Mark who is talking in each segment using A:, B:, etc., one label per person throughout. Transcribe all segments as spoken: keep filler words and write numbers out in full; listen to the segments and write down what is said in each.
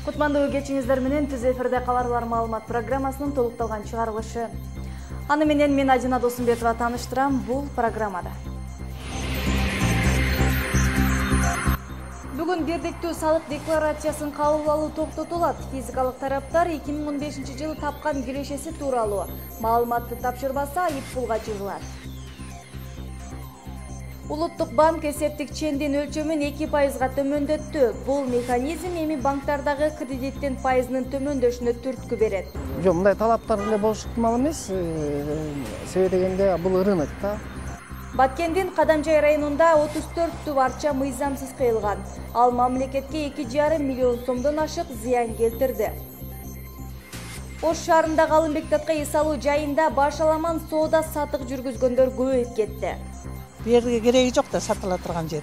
A: Кутмандуу кечиңиздер менен түз эфирде каларлар маалымат программасынын толукталган чыгарылышы. Аны менен мен Ажина Досумбетова тааныштырам бул программада. Бүгүн бирдиктүү салык декларациясын кабыл алуу токтотулат. Физикалык тараптар эки миң он бешинчи жылы тапкан кирешеси тууралуу маалыматты тапшырбаса айыппулга чыгылат. Улуттук банк эсептик чендин өлчөмүн эки пайызга төмөндөттү. Бул механизм эми банктардагы кредиттин пайызынын төмөндөшүнө түрткү берет.
B: Жок, мындай талаптар эле болушу ыктымал эмес. Себеби дегенде бул рынок да.
A: Баткендин Кадамжай районунда отуз төрт түп арча мыйзамсыз кыйылган. Ал мамлекетке эки жарым миллион сомдон ашык зыян келтирди. Ош шаарындагы Алымбек-Татка эс алуу жайында башаламан соода сатык жүргүзгөндөр көбөйүп кетти.
C: Бу жерге кереги жок да сатыла турган жер.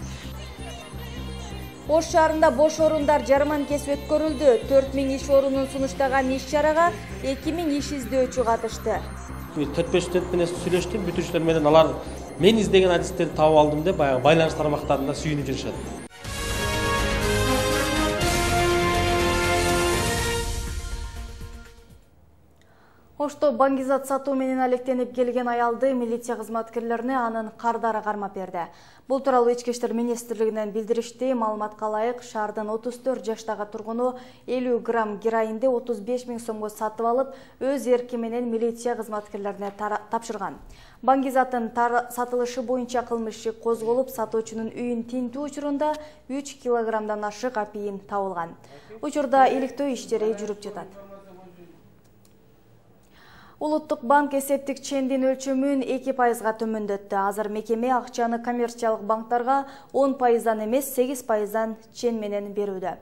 A: Ош шаарында бош орундар жарманкеси өткөрүлдү. төрт миң иш орунун сунуштаган иш-чарага эки миң иш издөөчү катышты.
D: төрт беш студент менен сүйлөштүм, бүтүүчүлөр менен алар мен издеген адистерди таап алдым деп баягы байланыш тармактарында сүйүнүп жүрүшөт.
A: Ошто баңгизат сатуу менен алектенип келген аялды милиция кызматкерлерине анын кардары кармап берди. Бул тууралуу Ички иштер министрлигинен билдиришти. Маалыматка ылайык, шаардын отуз төрт жаштагы тургуну элүү грамм героинди отуз беш миң сомго сатып алып, өз эрки менен милиция кызматкерлерине тапшырган. Баңгизаттын сатылышы боюнча кылмыш иши козголуп, сатуучунун үйүн тинтүү учурунда үч килограммдан ашык апийин табылган. Учурда иликтөө иштери жүрүп жатат. Улуттук банк эсептик чендин өлчөмүн эки пайызга төмөндөттү. Азыр мекеме акчаны коммерциялык банктарга он пайыздан эмес сегиз пайыздан чен менен берүүдө.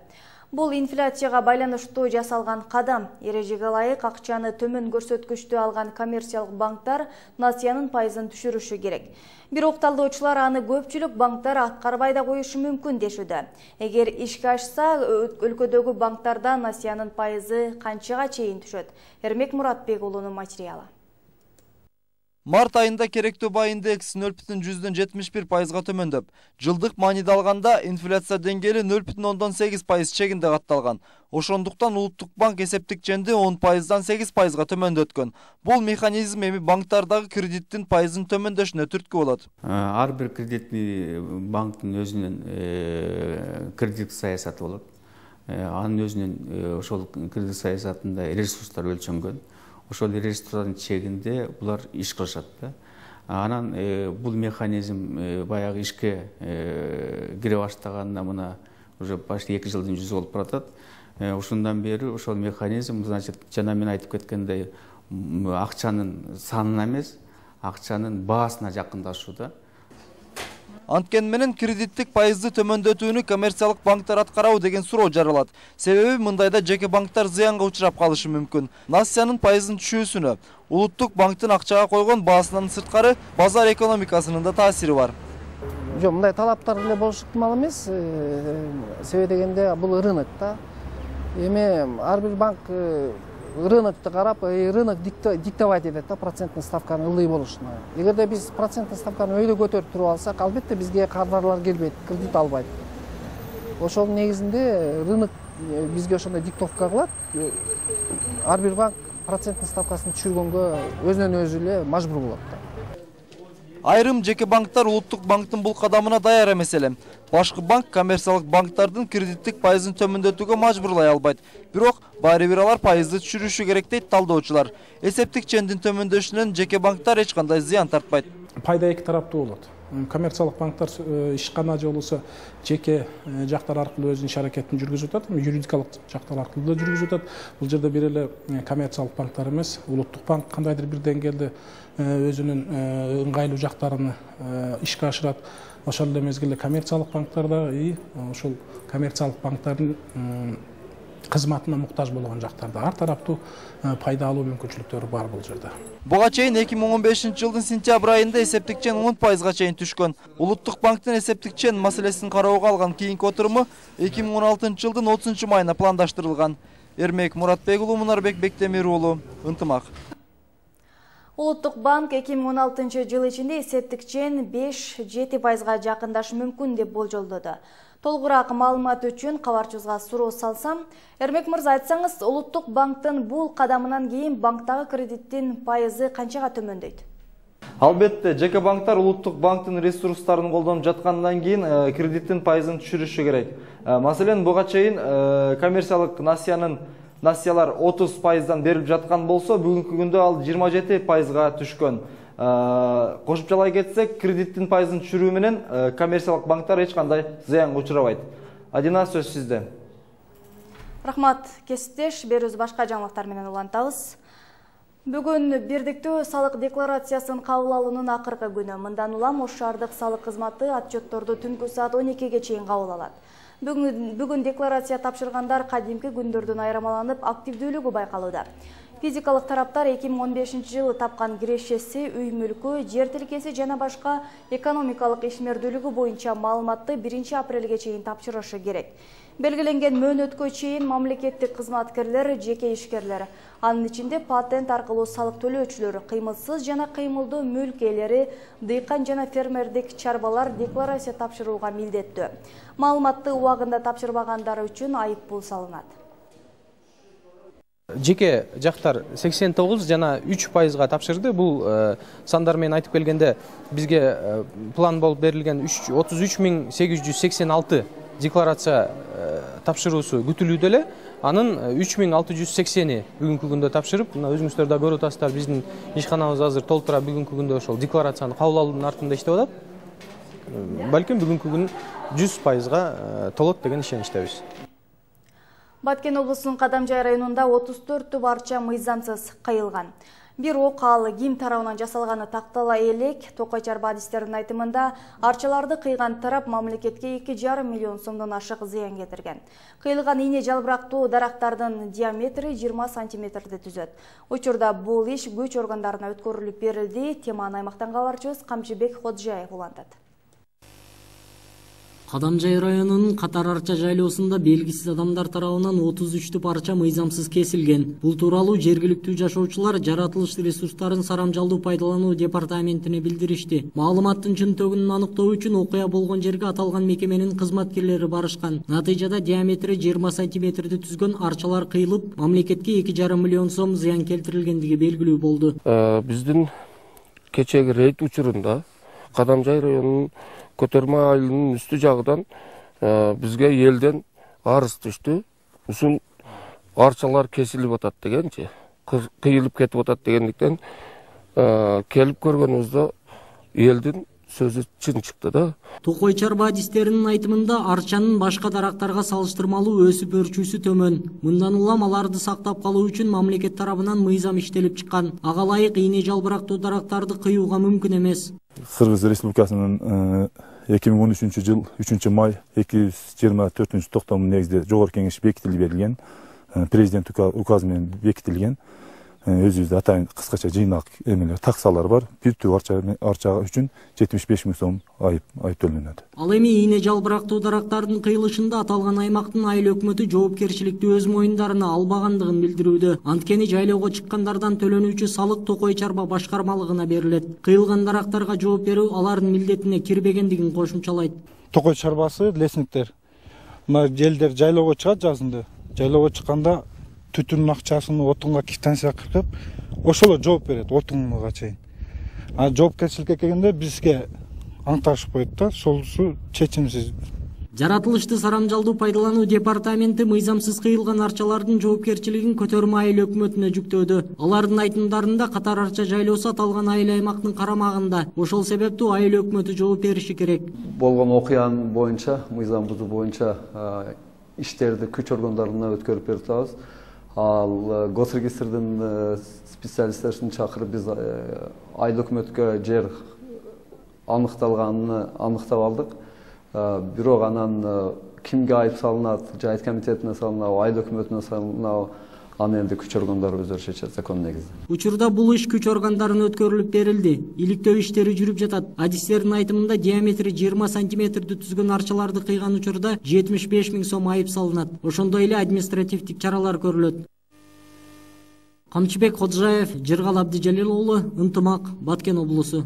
A: Бул инфляцияга байланыштуу жасалган кадам. Эрежеге ылайык акчаны төмөн көрсөткүчтү алган коммерциялык банктар насыянын пайызын түшүрүшү керек. Бирок талдоочулар аны көпчүлүк банктар аткарбай да коюшу мүмкүн дешүүдө. Эгер ишке ашса, өлкөдөгү банктарда насыянын пайызы канчага чейин түшөт? Эрмек Муратбек уулунун материалы.
E: Март айында керектүү баа индекси нөл бүтүн жүздөн жетимиш бир пайызга төмөндөп, жылдык мааниде алганда инфляция деңгээли нөл бүтүн ондон сегиз пайыз чегинде катталган. Ошондуктан Улуттук банк эсептик ченди он пайыздан сегиз пайызга төмөндөткөн. Бул механизм эми банктардагы кредиттин пайызын төмөндөшүнө түрткү болот.
F: Ар бир кредитный банктын өзүнүн кредит саясаты болот. Анын өзүнүн ошол кредит саясатында ресурстар өлчөнгөн. Ошол ресурстардын чегинде булар иш кылышат да. Анан бул механизм баягы ишке кире баштаганына мына уже почти эки жылдын жүзү болуп баратат. Ушундан бери ошол механизм, значит, жана мен айтып кеткендей, акчанын санына эмес, акчанын баасына жакындашууда.
E: Анткени менен кредиттик пайызды төмөндөтүүнү коммерциялык банктар аткарабы деген суроо жаралат. Себеби мындайда жеке банктар зыянга учурап калышы мүмкүн. Насыянын пайызын түшүүсүнө Улуттук банктын акчага койгон баасынан сырткары базар экономикасынын да таасири бар.
B: Жок, мындай талаптар эле болушу ыктымал эмес. Себеби дегенде бул рынок да. Эми ар бир банк рынокту карап, рынок диктовать этет да проценттин ставканы ылдый болушуна. Эгерде биз проценттин ставканы өйдө көтөрүп туруп алсак, албетте бизге кардарлар келбейт, кредит албайт. Ошол негизинде рынок бизге ошондой диктовка кылат. Ар бир банк проценттин ставкасын түшүргөнгө өзүнөн өзү эле мажбур болот да.
E: Айрым жеке банктар Улуттук банктын бул кадамына даяр эмес эле. Башкы банк коммерциялык банктардын кредиттик пайызын төмөндөтүүгө мажбурлай албайт. Бирок баары бир алар пайызды түшүрүшү керек дейт талдоочулар. Эсептик чендин төмөндөшүнөн жеке банктар эч кандай зыян тартпайт.
G: Пайда эки тараптуу болот. Коммерциялык банктар ишкана же болбосо жеке жактар аркылуу өзүнүн иш аракетин жүргүзүп атат, юридикалык жактар аркылуу да жүргүзүп атат. Бул жерде бир эле коммерциялык банктар эмес, Улуттук банк кандайдыр бир деңгээлде өзүнүн ыңгайлуу жактарын ишке ашырат. Ошол эле мезгилде коммерциялык банктар да ошол коммерциялык банктардын кызматына муктаж болгон жактарда ар тараптуу пайда алуу мүмкүнчүлүктөрү бар бул жерде.
E: Буга чейин эки миң он бешинчи жылдын сентябрь айында эсептик чен он пайызга чейин түшкөн. Улуттук банктын эсептик чен маселесин кароого алган кийинки отуруму эки миң он алтынчы жылдын отузунчу майына пландаштырылган. Эрмек Муратбек уулу, Мунарбек Бектемир уулу, Ынтымак.
A: Улуттук банк эки миң он алтынчы жыл ичинде эсептик чен беш жети пайызга жакындашы мүмкүн деп болжолдоду. Толугураак маалымат үчүн кабарчыбызга суроо салсам, Эрмек мырза, айтсаңыз, Улуттук банктын бул кадамынан кийин банктагы кредиттин пайызы канчага төмөндөйт?
E: Албетте, жеке банктар Улуттук банктын ресурстарын колдонуп жаткандан кийин кредиттин пайызын түшүрүшү керек. Маселен, буга чейин коммерциялык насиянын насиялар отуз пайыздан берилип жаткан болсо, бүгүнкү күндө ал жыйырма жети пайызга түшкөн. Кошумчалай кетсек, кредиттин пайызын түшүрүү менен коммерциялык банктар эч кандай зыянга учурабайт. Адина, сөз сизде.
A: Рахмат, кесиптеш, берүүбүз башка жаңылыктар менен улантабыз. Бүгүн бирдиктүү салык декларациясын кабыл алуунун акыркы күнү. Мындан улам Ош шаардык салык кызматы отчетторду түнкү саат он экиге чейин кабыл алат. Бүгүн, бүгүн декларация тапшыргандар кадимки күндөрдөн айырмаланып активдүүлүгү байкалууда. Физикалык тараптар эки миң он бешинчи жылы тапкан кирешеси, үй мүлкү, жер тилкеси жана башка экономикалык ишмердүүлүгү боюнча маалыматты биринчи апрелге чейин тапшырышы керек. Белгиленген мөөнөткө чейин мамлекеттик кызматкерлер, жеке ишкерлер, анын ичинде патент аркылуу салык төлөөчүлөр, кыймылсыз жана кыймылдуу мүлк ээлери, дыйкан жана фермердик чарбалар декларация тапшырууга милдеттүү. Маалыматты убагында тапшырбагандар үчүн айыппул салынат.
H: Жеке жактар сексен тогуз жана үч пайызга тапшырды. Бул сандар менен айтып келгенде бизге план болуп берилген отуз үч миң сегиз жүз сексен алты декларация тапшыруусу күтүлүүдө эле. Анын үч миң алты жүз сексени бүгүнкү күндө тапшырып, мына өзүңүздөр да көрүп атасыздар, биздин ишканабыз азыр толтура бүгүнкү күндө ошол декларацияны кабыл алуунун артында иштеп атат. Балким бүгүнкү күн жүз пайызга толот деген ишеничтебиз.
A: Баткен облусунун Кадамжай районунда отуз төрт туп арча мыйзамсыз кыйылган. Бир ок ал ким тарабынан жасалганы тактала элек. Токой Чарба адистердин айтымында арчаларды кыйган тарап мамлекетке эки жарым миллион сомдон ашык зыян кетирген. Кыйылган ийне жалбырактуу дарактардын диаметри жыйырма сантиметрди түзөт. Учурда бул иш күч органдарына өткөрүлүп берилди. Теманы аймактан кабарчыбыз Камчыбек Ходжаев улантат.
I: Кадамжай районунун Катар арча жайлоосунда белгисиз адамдар тарабынан отуз үч туп арча мыйзамсыз кесилген. Бул тууралуу жергиликтүү жашоочулар жаратылыш ресурстарын сарамжалдуу пайдалануу департаментине билдиришти. Маалыматтын чынтөгүн аныктоо үчүн окуя болгон жерге аталган мекеменин кызматкерлери барышкан. Натыйжада диаметри жыйырма сантиметрди түзгөн арчалар кыйылып, мамлекетке эки жарым миллион сом зыян келтирилгендиги белгилүү болду.
J: Биздин кечеги рейд учурунда Кадамжай районунун Көтөрмө айылынын үстү жагынан бизге элден арыз түштү. Ушул арчалар кесилип атат дегенчи, кыйылып кетип атат дегендиктен келип көргөнүбүздө элдин сөзү чын чыкты да.
I: Токой Чарба адистеринин айтымында арчанын башка дарактарга салыштырмалуу өсүп өрчүүсү төмөн. Мындан улам аларды сактап калуу үчүн мамлекет тарабынан мыйзам иштелип чыккан. Ага ылайык ийне жалбырактуу дарактарды кыюуга мүмкүн эмес.
K: Кыргыз Республикасынын эки миң он үчүнчү жыл үчүнчү май эки жүз жыйырма төртүнчү токтомунун негизинде Жогорку Кеңеш бекитилип берилген, президент указы менен бекитилген. Өзүбүздө атайын кыскача жыйнак эмелер, таксалар бар. Бир туп арча арча үчүн жетимиш беш миң сом айып айып төлөнөт.
I: Ал эми ийне жалбырактуу дарактардын кыйылышында аталган аймактын айыл өкмөтү жоопкерчиликти өз моюндарына албагандыгын билдирүүдө. Анткени жайлоого чыккандардан төлөнүүчү салык Токой Чарба башкармалыгына берилет. Кыйылган дарактарга жооп берүү алардын милдетине кирбегендигин кошумчалайт.
L: Токой Чарбасы лесниктер. Мына желдер жайлоого чыгат жазында. Жайлоого чыкканда түтүнүн акчасын отунга квитанция кыркып, ошолор жооп берет отунга чейин. А жоопкерчиликке келгенде бизге аңтарышып коет да, солусу чечимсиз.
I: Жаратылышты сарамжалдуу пайдалануу департаменти мыйзамсыз кыйылган арчалардын жоопкерчилигин Көтөрмө айыл өкмөтүнө жүктөөдү. Алардын айтымдарында Катар арча жайлоосу аталган айыл аймактын карамагында. Ошол себептүү айыл өкмөтү жооп бериши керек.
M: Болгон окуянын боюнча, мыйзам бузуу боюнча иштерди күч органдарына өткөрүп берип атабыз. Ал госрегистрдин специалисттерин чакырып биз айыл өкмөткө жер аныкталганын аныктап алдык. Бирок анан кимге айып салынат, жайыт комитетине салынабы, айыл өкмөтүнө салынабы, аны энди күч органдары өздөрү чечет закон негизинде.
I: Учурда бул иш күч органдарына өткөрүлүп берилди. Иликтөө иштери жүрүп жатат. Адистердин айтымында диаметри жыйырма сантиметрди түзгөн арчаларды кыйган учурда жетимиш беш миң сом айып салынат. Ошондой эле административдик чаралар көрүлөт. Камчыбек Ходжаев, Жыргал Абдижалил уулу, Ынтымак, Баткен облусу.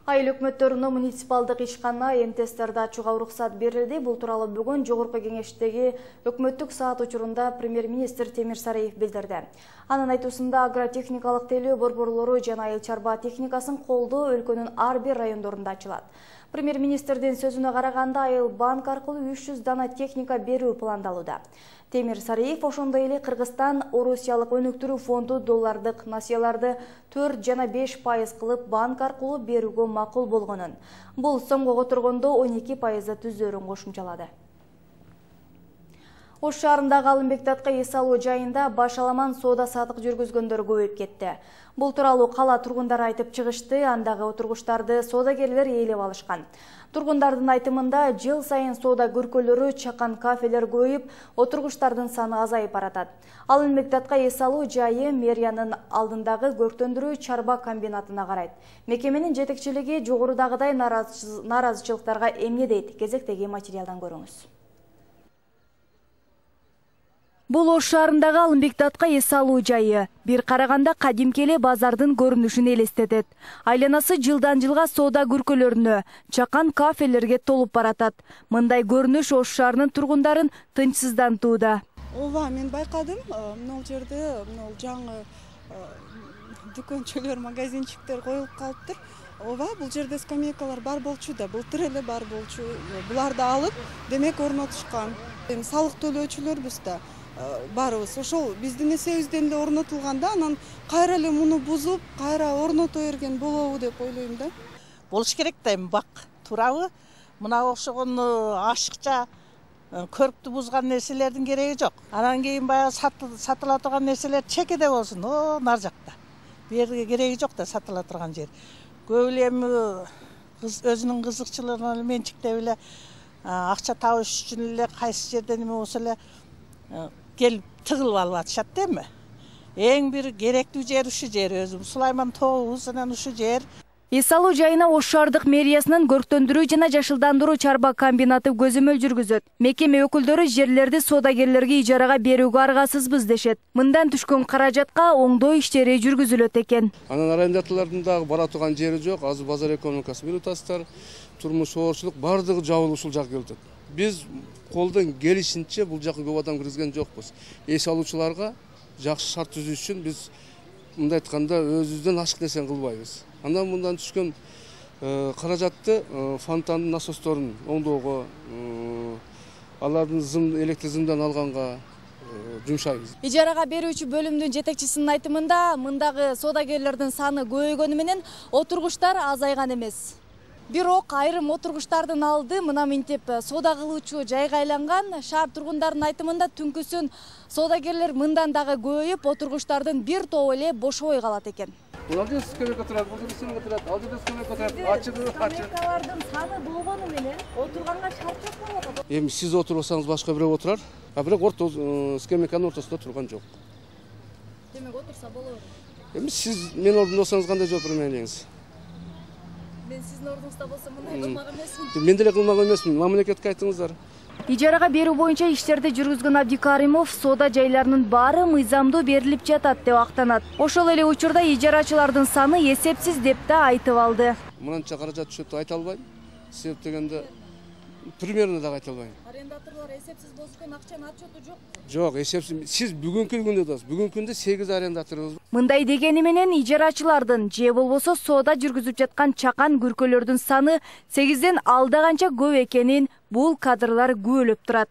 A: Айыл өкмөттөрүнө муниципалдык ишкана эмтестерди ачууга уруксат берилди. Бул тууралуу бүгүн Жогорку Кеңештеги өкмөттүк саат учурунда премьер-министр Темир Сариев билдирди. Анын айтуусунда агротехникалык тейлөө борборлору жана айыл чарба техникасын колдоо өлкөнүн ар бир райондорунда ачылат. Премьер-министрдин сөзүнө караганда, Айыл банк аркылуу үч жүз дана техника берүү пландалууда. Темир Сариев ошондой эле Кыргызстан Орусиялык өнүктүрүү фонду доллардык насыяларды төрт жана беш пайыз кылып банк аркылуу берүүгө макул болгонун. Бул сомго которгондо он эки пайызды түзөөрүн кошумчалады. Ош шаарындагы Алымбек-Датка эс алуу жайында башаламан соода сатык жүргүзгөндөр көбөйүп кетти. Бул тууралуу кала тургундары айтып чыгышты, андагы отургучтарды соодагерлер ээлеп алышкан. Тургундардын айтымында жыл сайын соода көркөлөрү, чакан кафелер көбөйүп, отургучтардын саны азайып баратат. Алымбек-Датка эс алуу жайы мэриянын алдындагы көрктөндүрүү чарба комбинатына карайт. Мекеменин жетекчилиги жогорудагыдай наразычылыктарга эмне дейт? Кезектеги материалдан көрүңүз. Бул Ош шаарындагы Алымбек-Датка эс алуу жайы бир караганда кадимки эле базардын көрүнүшүн элестетет. Айланасы жылдан жылга соода көркөлөрүнө, чакан кафелерге толуп баратат. Мындай көрүнүш Ош шаарынын тургундарын тынчсыздантууда.
N: Ооба, мен байкадым, могул жерде могул жаңы дүкөнчөлөр, магазинчиктер коюлуп калыптыр. Ооба, бул жерде скамейкалар бар болчу да, былтыр эле бар болчу. Буларды алып, демек орнотушкан. Эми салык төлөөчүлөрбүз да барыбыз. Ошол биздин эсебизден эле орнотулганда, анан кайра эле муну бузуп, кайра орното берген болобу деп ойлойм да.
C: Болуш керек да, эми бак туурабы? Мына окшогон ашыкча көрктү бузган нерселердин кереги жок. Анан кийин баягы сатыла турган нерселер чекеде болсун, о, нар жакта. Бу жерге кереги жок да сатыла турган жер. Көп эле эми өзүнүн кызыкчылыгына менчиктеп эле акча табыш үчүн эле кайсы жерден эме болсо эле келип тыгылып алып атышат да эми. Эң бир керектүү жер ушу жер, өзүм Сулайман тообуз анан ушу жер.
A: Эс алуу жайына Ош шаардык мэриясынын көрктөндүрүү жана жашылдандыруу чарба комбинаты көзөмөл жүргүзөт. Мекеме өкүлдөрү жерлерди соодагерлерге ижарага берүүгө аргасызбыз дешет. Мындан түшкөн каражатка оңдоо иштери жүргүзүлөт экен.
O: Анан арендаторлордун дагы бара турган жери жок. Азыр базар экономикасы менен атасыздар, турмуш оорчулук бардыгы жабылып ушул жакка келет. Биз колдон келишинче бул жака көп адам киргизген жокпуз. Эс алуучуларга жакшы шарт түзүү үчүн биз мындай айтканда өзүбүздөн ашык нерсени кылбайбыз. Андан мындан түшкөн каражатты фонтандын насосторун оңдоого, алардын зым электр зымдан алганга жумшайбыз.
A: Ижарага берүүчү бөлүмдүн жетекчисинин айтымында, мындагы соодагерлердин саны көбөйгөнү менен отургучтар азайган эмес. Бирок айрым отургучтардын алды мына мынтип соода кылуучу жайга айланган. Шаар тургундарынын айтымында түнкүсүн соодагерлер мындан дагы көбөйүп, отургучтардын бир тобу эле бошобой калат экен.
O: Бул жерде скамейка турат, бул жерде скамейка турат, ал жерде скамейка турат. Ачыгы, ачыгы.
A: Скамейкалардын саны болгону менен отурганга шарт жок болуп атат.
O: Эми сиз отурбасаңыз башка бирөө отурар, а бирок орто скамейканын ортосунда турган жок.
A: Демек отурса болобу?
O: Эми сиз менин ордумда болсоңуз кандай жооп берем элеңиз?
A: Мен сиздин ордуңузда болсом мындай кылмак эмесмин.
O: Мен деле кылмак эмесмин, мамлекетке айтыңыздар.
A: Ижарага берүү боюнча иштерди жүргүзгөн Абдикаримов соода жайларынын баары мыйзамдуу берилип жатат деп актанат. Ошол эле учурда ижарачылардын саны эсепсиз деп да айтып алды.
O: Мынанча каражат түшөт деп айта албайм. Себеп дегенде примерно да айта албайм.
A: Арендаторлор эсепсиз болсун, акчанын отчету жок.
O: Жок, эсепсиз. Сиз бүгүнкү күндө дасыз. Бүгүнкү күндө сегиз арендаторубуз.
A: Мындай дегени менен ижарачылардын же болбосо соода жүргүзүп жаткан чакан күркөлөрдүн саны сегизден алда канча көп экенин бул кадрлар күбөлөп турат.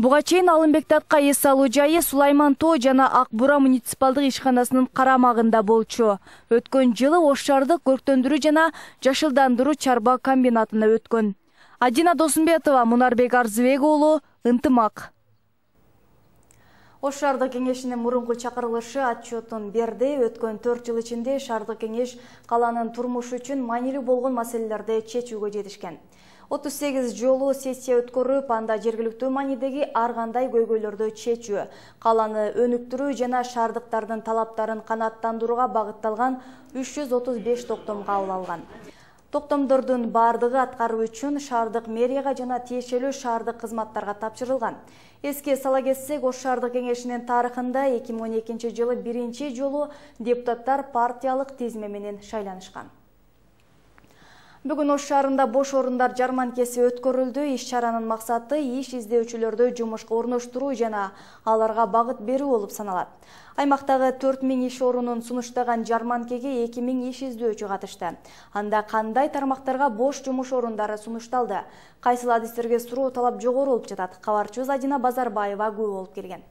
A: Буга чейин Алымбек-Датка эс алуу жайы Сулайман тоо жана Ак Бура муниципалдык ишканасынын карамагында болчу. Өткөн жылы Ош шаардык көрктөндүрүү жана жашылдандыруу чарба комбинатына өткөн. Адина Досумбетова, Мунарбек Арзыбек уулу, Ынтымак. Ош шаардык кеңешинин мурунку чакырылышы отчетун берди. Өткөн төрт жыл ичинде шаардык кеңеш каланын турмушу үчүн маанилүү болгон маселелерди чечүүгө жетишкен. отуз сегиз жолу сессия өткөрүп, анда жергиликтүү маанидеги ар кандай көйгөйлөрдү чечүү, каланы өнүктүрүү жана шаардыктардын талаптарын канааттандырууга багытталган үч жүз отуз беш токтом кабыл алган. Токтомдордун бардыгы аткаруу үчүн шаардык мэрияга жана тиешелүү шаардык кызматтарга тапшырылган. Эске сала кетсек, Ош шаардык кеңешинин тарыхында эки миң он экинчи жылы биринчи жолу депутаттар партиялык тизме менен шайланышкан. Бүгүн Ош шаарында бош орундар жарманкеси өткөрүлдү. Иш чаранын максаты иш издөөчүлөрдү жумушка орноштуруу жана аларга багыт берүү болуп саналат. Аймактагы төрт миң иш орунун сунуштаган жарманкеге эки миң иш издөөчү катышты. Анда кандай тармактарга бош жумуш орундары сунушталды? Кайсыл адистерге суроо талап жогору болуп жатат? Кабарчыбыз Адина Базарбаева күбө болуп келген.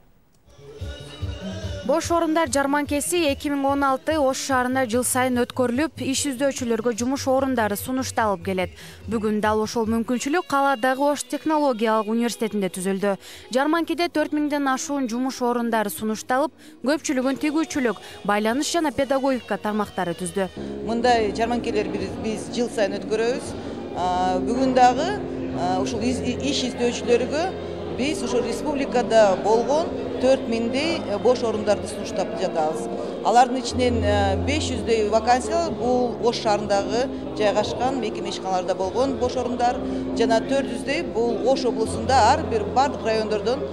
P: Бош орундар жарманкеси эки миң он алты Ош шаарында жыл сайын өткөрүлүп, иш издөөчүлөргө жумуш орундары сунушталып келет. Бүгүн дал ошол мүмкүнчүлүк каладагы Ош технологиялык университетинде түзүлдү. Жарманкеде төрт миңден ашуун жумуш орундары сунушталып, көпчүлүгүн тигүүчүлүк, байланыш жана педагогика тармактары түздү.
Q: Мындай жарманкелер биз жыл сайын өткөрөбүз. Бүгүн дагы ушул иш издөөчүлөргө биз ушул республикада болгон төрт миңдей бош орундарды сунуштап жатабыз. Алардын ичинен беш жүздөй вакансия бул Ош шаарындагы жайгашкан мекеме ишканаларда болгон бош орундар жана төрт жүздөй бул Ош облусунда ар бир бардык райондордон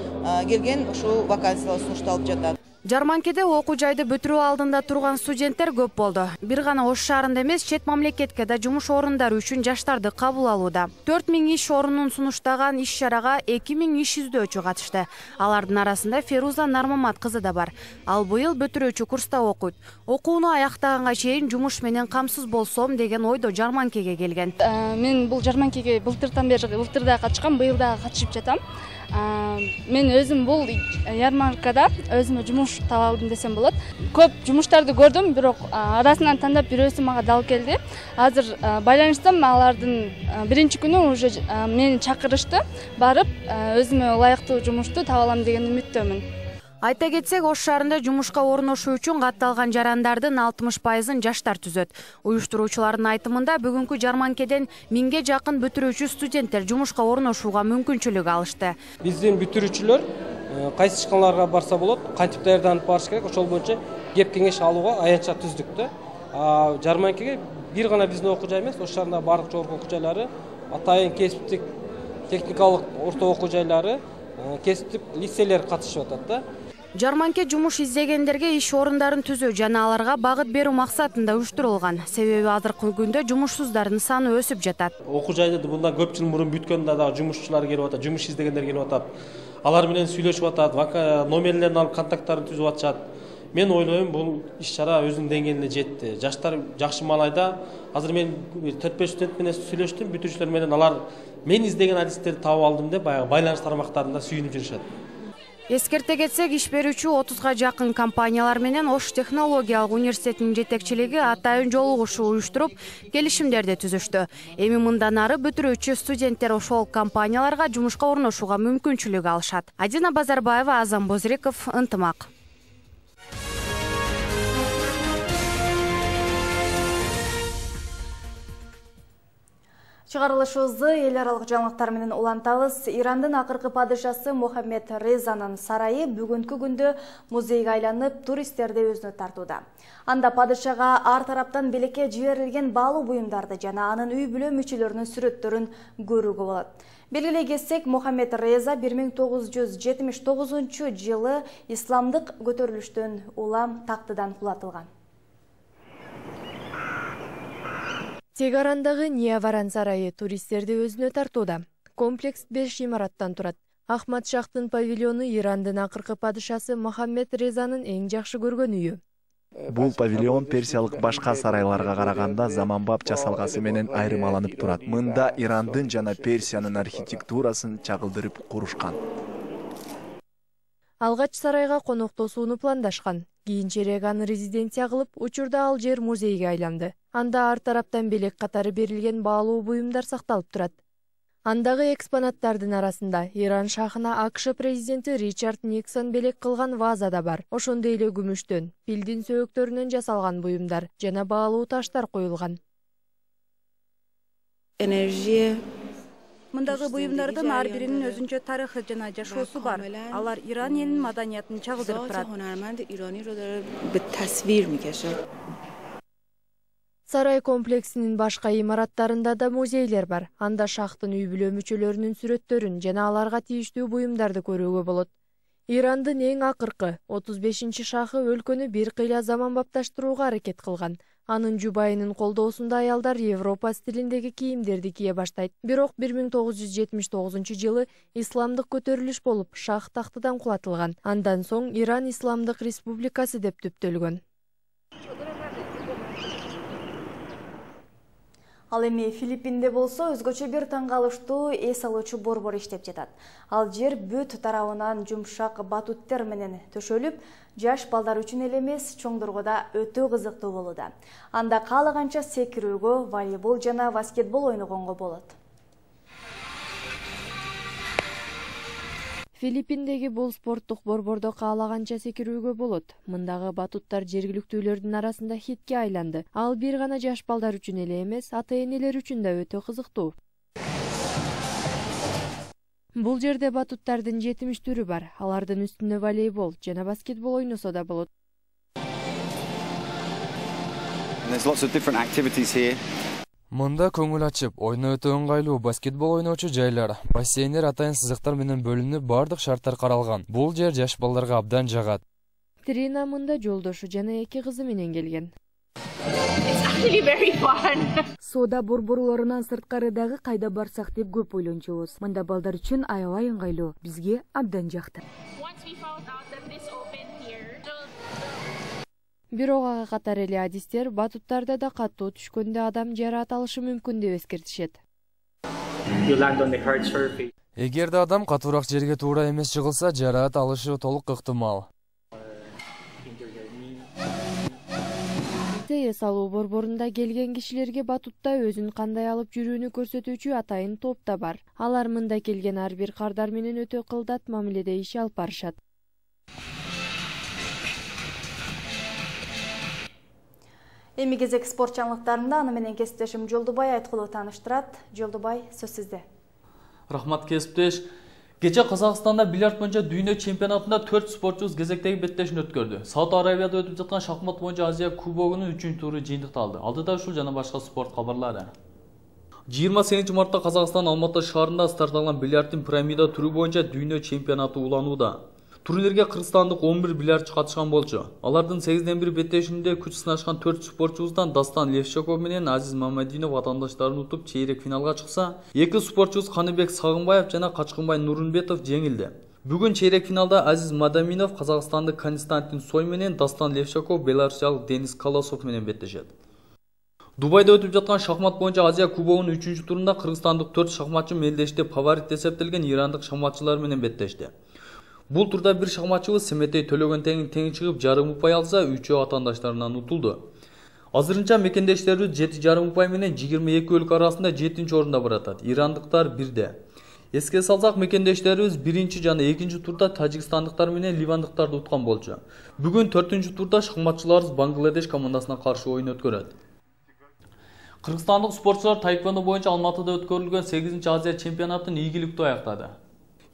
Q: келген ушул вакансиялар сунушталып жатат.
P: Жарманкеде окуу жайды бүтүрүү алдында турган студенттер көп болду. Бир гана Ош шаарында эмес, чет мамлекетке да жумуш орундары үчүн жаштарды кабыл алууда. төрт миң иш орунун сунуштаган иш чарага эки миң иш издөөчү катышты. Алардын арасында Феруза Нармамат кызы да бар. Ал быйыл бүтүрүүчү курста окуйт. Окууну аяктаганга чейин жумуш менен камсыз болсом деген ойдо жарманкеге келген.
R: Мен бул жарманкеге былтырдан бери былтырда катышкам, быйыл дагы катышып жатам. Мен өзүм бул ярмаркада өзүмө жумуш таба алдым десем болот. Көп жумуштарды көрдүм, бирок арасынан тандап бирөөсү мага дал келди. Азыр байланыштым, алардын биринчи күнү уже мени чакырышты, барып өзүмө ылайыктуу жумушту таба алам деген үмүттөмүн.
P: Айта кетсек, Ош шаарында жумушка орношуу үчүн катталган жарандардын алтымыш пайызын жаштар түзөт. Уюштуруучулардын айтымында бүгүнкү жарманкеден миңге жакын бүтүрүүчү студенттер жумушка орношууга мүмкүнчүлүк алышты.
D: Биздин бүтүрүүчүлөр кайсы ишканаларга барса болот, кантип даярданып барыш керек, ошол боюнча кеп кеңеш алууга аянтча түздүк да. Жарманкеге бир гана биздин окуу жай эмес, Ош шаарындагы бардык жогорку окуу жайлары, атайын кесиптик техникалык орто окуу жайлары, кесиптик лицейлер катышып атат да.
P: Жарманке жумуш издегендерге иш орундарын түзүү жана аларга багыт берүү максатында уюштурулган. Себеби азыркы күндө жумушсуздардын саны өсүп жатат.
D: Окуу жайды мындан көп жыл мурун бүткөндө дагы жумушчулар келип атат, жумуш издегендер келип атат. Алар менен сүйлөшүп атат, номерлерин алып контакттарын түзүп атышат. Мен ойлойм, бул иш чара өзүнүн деңгээлине жетти. Жаштар жакшы маанайда. Азыр мен төрт беш студент менен сүйлөштүм, бүтүүчүлөр менен алар мен издеген адистерди таап алдым деп баягы байланыш тармактарында сүйүнүп жүрүшөт.
P: Эскерте кетсек, иш берүүчү отузга жакын компаниялар менен Ош технологиялык университетинин жетекчилиги атайын жолугушуу уюштуруп, келишимдерди түзүштү. Эми мындан ары бүтүрүүчү студенттер ошол компанияларга жумушка орношууга мүмкүнчүлүк алышат. Адина Базарбаева, Азам Бозриков, Ынтымак.
A: Чыгарылышыбызды эл аралык жаңылыктар менен улантабыз. Ирандын акыркы падышасы Мухаммед Резанын сарайы бүгүнкү күндө музейге айланып, туристтерди өзүнө тартууда. Анда падышага ар тараптан белекке жиберилген баалуу буюмдарды жана анын үй бүлө мүчөлөрүнүн сүрөттөрүн көрүүгө болот. Белгилей кетсек, Мухаммед Реза бир миң тогуз жүз жетимиш тогузунчу жылы исламдык көтөрүлүштөн улам тактыдан кулатылган.
S: Тегарандагы Нияваран сарайы туристтерди өзүнө тартууда. Комплекс беш имараттан турат. Ахмад Шахтын павильону Ирандын акыркы падышасы Мухаммед Резанын эң жакшы көргөн үйү.
T: Бул павильон персиялык башка сарайларга караганда заманбап жасалгасы менен айырмаланып турат. Мында Ирандын жана Персиянын архитектурасын чагылдырып курушкан.
S: Алгач сарайга коноктосууну пландашкан. Кийинчерээк аны резиденция кылып, учурда ал жер музейге айланды. Анда ар тараптан белек катары берилген баалуу буюмдар сакталып турат. Андагы экспонаттардын арасында Иран шахына АКШ президенти Ричард Никсон белек кылган ваза да бар. Ошондой эле күмүштөн, пилдин сөөктөрүнөн жасалган буюмдар жана баалуу таштар коюлган.
U: Энергия Мындагы буюмдардын ар биринин өзүнчө тарыхы жана жашоосу бар. Алар Иран элинин маданиятын чагылдырып турат. Сарай комплексинин башка имараттарында да музейлер бар. Анда шахтын үй-бүлө мүчөлөрүнүн сүрөттөрүн жана аларга тийиштүү буюмдарды көрүүгө болот. Ирандын эң акыркы отуз бешинчи шахы өлкөнү бир кыйла заманбапташтырууга аракет кылган. Анын жубайынын колдоосунда аялдар Европа стилиндеги кийимдерди кие баштайт. Бирок бир миң тогуз жүз жетимиш тогузунчу жылы исламдык көтөрүлүш болуп, шах тактыдан кулатылган. Андан соң Иран Исламдык Республикасы деп түптөлгөн.
A: Ал эми Филиппинде болсо өзгөчө бир таң калыштуу эс алуучу борбор иштеп жатат. Ал жер бүт тарабынан жумшак батуттер менен төшөлүп, жаш балдар үчүн эле эмес, чоңдорго да өтө кызыктуу болууда. Анда каалаганча секирүүгө, волейбол жана баскетбол ойногонго болот.
S: Филиппиндеги бул спорттук борбордо каалаганча секирүүгө болот. Мындагы батуттар жергиликтүүлөрдүн арасында хитке айланды. Ал бир гана жаш балдар үчүн эле эмес, ата-энелер үчүн да өтө кызыктуу. Бул жерде батуттардын жетимиш түрү бар. Алардын үстүнө волейбол жана баскетбол ойносо да болот.
V: Мында көңүл ачып, ойно өтө ыңгайлуу баскетбол ойночу жайлар, бассейндер атайын сызыктар менен бөлүнүп, бардык шарттар каралган. Бул жер жаш балдарга абдан жагат.
S: Трина мында жолдошу жана эки кызы менен келген.
W: Соода борборлорунан сырткары дагы кайда барсак деп көп ойлончубуз. Мында балдар үчүн аябай ыңгайлуу. Бизге абдан жакты.
S: Бирок ага катар эле адистер батуттарда да каттуу түшкөндө адам жараат алышы мүмкүн деп эскертишет.
V: Эгерде адам катуураак жерге туура эмес жыгылса, жараат алышы толук ыктымал.
S: Эс алуу борборунда келген кишилерге батутта өзүн кандай алып жүрүүнү көрсөтүүчү атайын топ да бар. Алар мында келген ар бир кардар менен өтө кылдат мамиледе иш алып барышат.
A: Эми кезек спорт жаңылыктарында аны менен кесиптешим Жолдубай Айткулов тааныштырат. Жолдубай, сөз сизде.
X: Рахмат кесиптеш. Кече Казакстанда бильярд боюнча дүйнө чемпионатында төрт спортчубуз кезектеги беттешин өткөрдү. Сауд Арабияда өтүп жаткан шахмат боюнча Азия кубогунун үчүнчү туру жыйынтыкталды. Алдыда ушул жана башка спорт кабарлары. жыйырма сегизинчи мартта Казакстан Алматы шаарында старт алган бильярдтын пирамида туру боюнча дүйнө чемпионаты уланууда. Турнирге кыргызстандык он бир бильярдчы катышкан болчу. Алардын сегизден бир беттешинде күч сынашкан төрт спортчубуздан Дастан Левшаков менен Азиз Мамадинов атаандаштарын утуп чейрек финалга чыкса, эки спортчубуз Каныбек Сагынбаев жана Качкынбай Нурунбетов жеңилди. Бүгүн чейрек финалда Азиз Мадаминов казакстандык Константин Сой менен, Дастан Левшаков беларусиялык Денис Колосов менен беттешет. Дубайда өтүп жаткан шахмат боюнча Азия кубогунун үчүнчү турунда кыргызстандык төрт шахматчы мелдеште фаворит эсептелген ирандык шахматчылар менен беттешти. Бул турда бир шахматчыбыз Семетей Төлөгөн тең тең чыгып жарым упай алса, үчөө атаандаштарынан утулду. Азырынча мекендештерибиз жети жарым упай менен жыйырма эки өлкө арасында жетинчи орунда баратат. Ирандыктар бирде. Эске салсак, мекендештерибиз биринчи жана экинчи турда тажикстандыктар менен ливандыктарды уткан болчу. Бүгүн төртүнчү турда шахматчыларыбыз Бангладеш командасына каршы оюн өткөрөт. Кыргызстандык спортчулар таэквондо боюнча Алматыда өткөрүлгөн сегизинчи Азия чемпионатын ийгиликтүү аяктады.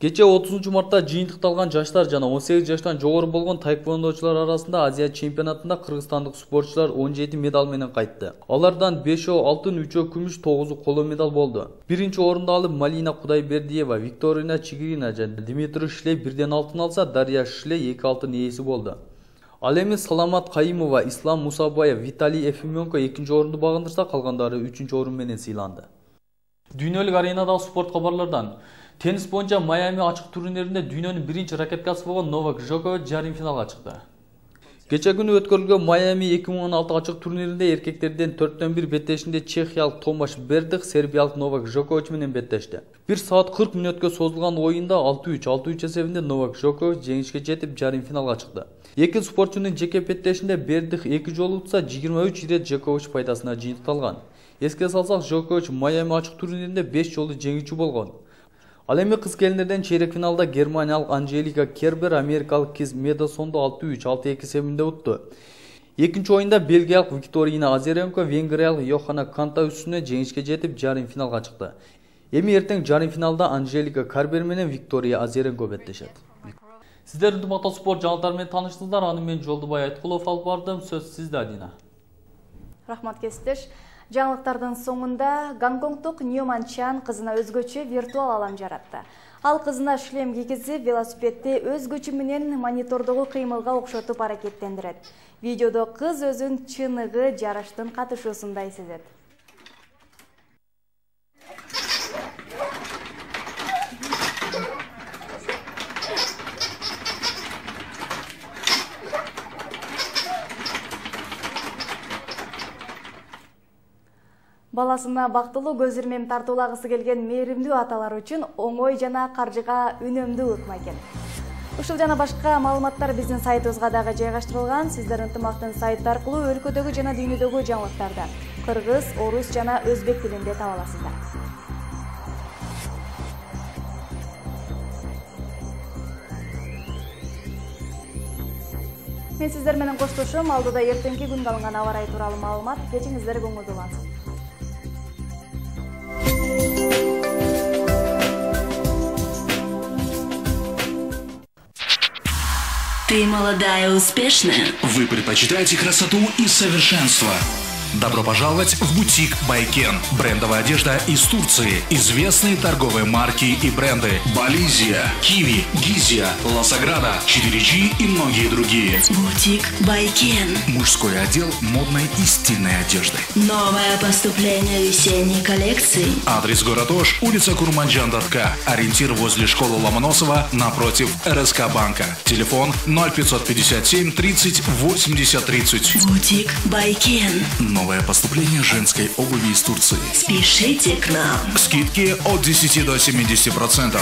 X: Кече отузунчу мартта жыйынтыкталган жаштар жана он сегиз жаштан жогору болгон таэквондочулар арасында Азия чемпионатында кыргызстандык спортчулар он жети медаль менен кайтты. Алардан бешөө алтын, үчөө күмүш, тогузу коло медаль болду. Биринчи орунду алып Малина Кудайбердиева, Викторина Чигирина жана Дмитрий Шлей бирден алтын алса, Дарья Шлей эки алтын ээси болду. Ал эми Саламат Кайымова, Ислам Мусабаев, Виталий Ефименко экинчи орунду багындырса, калгандары үчүнчү орун менен сыйланды. Дүйнөлүк аренадагы спорт кабарлардан теннис боюнча Майами ачык турниринде дүйнөнүн биринчи ракеткасы болгон Новак Джокович жарым финалга чыкты. Кече күнү өткөрүлгөн Майами эки миң он алты ачык турниринде эркектерден төрттөн бир беттешинде чехиялык Томаш Бердих сербиялык Новак Джокович менен беттешти. бир саат кырк мүнөткө созулган оюнда алты үч алты үч эсебинде Новак Джокович жеңишке жетип жарым финалга чыкты. Эки спортчунун жеке беттешинде Бердих эки жолу утса, жыйырма үч ирет Джокович пайдасына жыйынтыкталган. Эске салсак, Джокович Майами ачык турниринде беш жолу жеңүүчү болгон. Ал эми кыз келиндерден чейрек финалда германиялык Анжелика Кербер америкалык Киз Медосонду алты үч алты эки эсебинде утту. Экинчи оюнда бельгиялык Викторина Азаренко венгриялык Йоханна Канта үстүнө жеңишке жетип жарым финалга чыкты. Эми эртең жарым финалда Анжелика Карбер менен Виктория Азеренко беттешет. Сиздердин мотоспорт жаңылыктары менен тааныштыңыздар. Аны мен Жолдубай Айткулов алып бардым. Сөз сизде, Адина.
A: Рахмат кесиптеш. Жаңылыктардын соңунда Гонконгдук Ньюман Чан кызына өзгөчө виртуал алам жаратты. Ал кызына шлем кийгизип, велосипедди өз күчү менен монитордогу кыймылга окшотуп аракеттендирет. Видеодо кыз өзүн чыныгы жарыштын катышуусундай сезет. Баласына бактылуу көз ирмем тартуулагысы келген мээримдүү аталар үчүн оңой жана каржыга үнөмдүү ыкма экен. Ушул жана башка маалыматтар биздин сайтыбызга дагы жайгаштырылган. Сиздер ынтымактын сайты аркылуу өлкөдөгү жана дүйнөдөгү жаңылыктарды кыргыз, орус жана өзбек тилинде таба аласыздар. Мен сиздер менен коштошом. Алдыда эртеңки күнгө алынган аба ырайы тууралуу маалымат. Кечиңиздер көңүлдүүлансın.
B: Ты молодая и успешная. Вы предпочитаете красоту и совершенство. Добро пожаловать в бутик Байкен. Брендовая одежда из Турции. Известные торговые марки и бренды. Болизия, Киви, Гизия, Ласаграда, четыре джи и многие другие. Бутик Байкен. Мужской отдел модной и стильной одежды. Новое поступление весенней коллекции. Адрес город Ош, улица Курманджан-Датка. Ориентир возле школы Ломоносова напротив эр эс ка банка. Телефон ноль пятьсот пятьдесят семь тридцать восемьдесят тридцать. Бутик Байкен. Новое поступление женской обуви из Турции. Спешите к нам. Скидки от десяти до семидесяти процентов.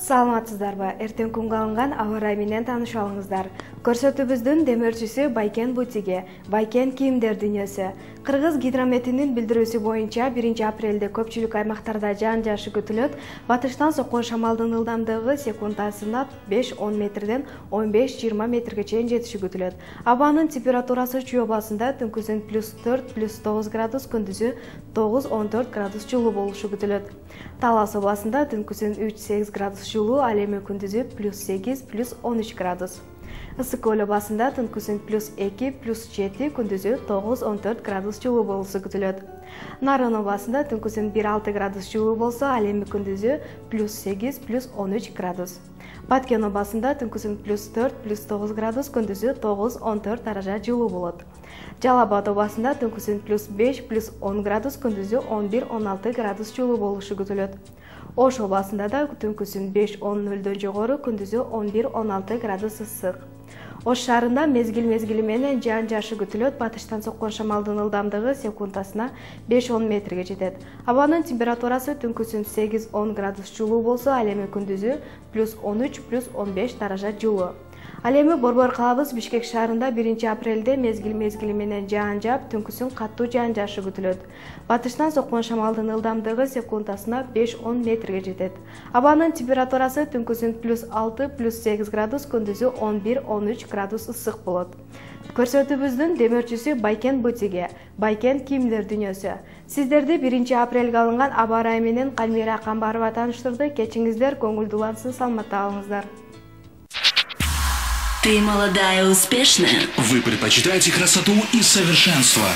E: Саламатсыздарбы? Эртең күнгө алынган аба ырайы менен таанышып алыңыздар. Көрсөтүүбүздүн демөөрчүсү Байкен бутиги, Байкен кийимдер дүйнөсү. Кыргыз гидрометинин билдирүүсү боюнча биринчи апрелде көпчүлүк аймактарда жаан жаашы күтүлөт. Батыштан соккон шамалдын ылдамдыгы секундасына беш он метрден он беш жыйырма метрге чейин жетиши күтүлөт. Абанын температурасы Чүй областында түнкүсүн плюс төрт плюс тогуз градус, күндүзү тогуз он төрт градус жылуу болушу күтүлөт. Талас областында түнкүсүн үч сегиз градус жылуу, ал эми күндүзү плюс сегиз плюс он үч градус. Ысык көл областында түнкүсүн плюс эки плюс жети, күндүзү тогуз он төрт градус жылуу болушу күтүлөт. Нарын областында түнкүсүн бир алты градус жылуу болсо, ал эми күндүзү плюс сегиз плюс он үч градус. Баткен областында түнкүсүн плюс төрт плюс тогуз градус, күндүзү тогуз он төрт даража жылуу болот. Жалал Абад областында түнкүсүн плюс беш плюс он градус, күндүзү он бир он алты градус жылуу болушу күтүлөт. Ош областында да түнкүсүн беш он нөлдөн жогору, күндүзү он бир он алты градус ысык. Ош шаарында мезгил мезгили менен жаан жаашы күтүлөт. Батыштан соккон шамалдын ылдамдыгы секундасына беш он метрге жетет. Абанын температурасы түнкүсүн сегиз он градус жылуу болсо, ал эми күндүзү плюс он үч плюс он беш даража жылуу. Ал эми Борбор калабыз Бишкек шаарында биринчи апрелде мезгил мезгили менен жаан жаап, түнкүсүн каттуу жаан жаашы күтүлөт. Батыштан соккон шамалдын ылдамдыгы секундасына беш он метрге жетет. Абанын температурасы түнкүсүн плюс алты плюс сегиз градус, күндүзү он бир он үч градус ысык болот. Көрсөтүүбүздүн демөөрчүсү Байкен бутиги, Байкен кийимдер дүйнөсү. Сиздерди биринчи апрелге алынган аба ырайы менен Калмира Камбарова тааныштырды. Кечиңиздер көңүлдүүлансын, саламатта калыңыздар.
B: Ты молодая и успешная. Вы предпочитаете красоту и совершенство.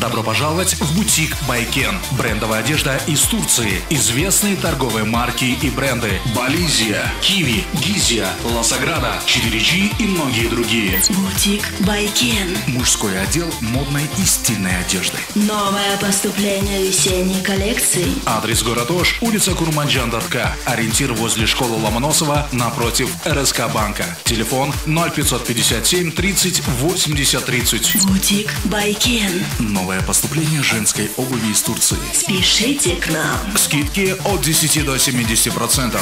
B: Добро пожаловать в бутик Байкен. Брендовая одежда из Турции. Известные торговые марки и бренды. Болизия, Киви, Гизия, Ласаграда, четыре джи и многие другие. Бутик Байкен. Мужской отдел модной и стильной одежды. Новое поступление весенней коллекции. Адрес город Ош, улица Курманджан-Датка. Ориентир возле школы Ломоносова напротив эр эс ка банка. Телефон ноль пятьсот пятьдесят семь тридцать восемьдесят тридцать. Бутик Байкен. Новое поступление женской обуви из Турции. Спешите к нам. Скидки от десяти до семидесяти процентов.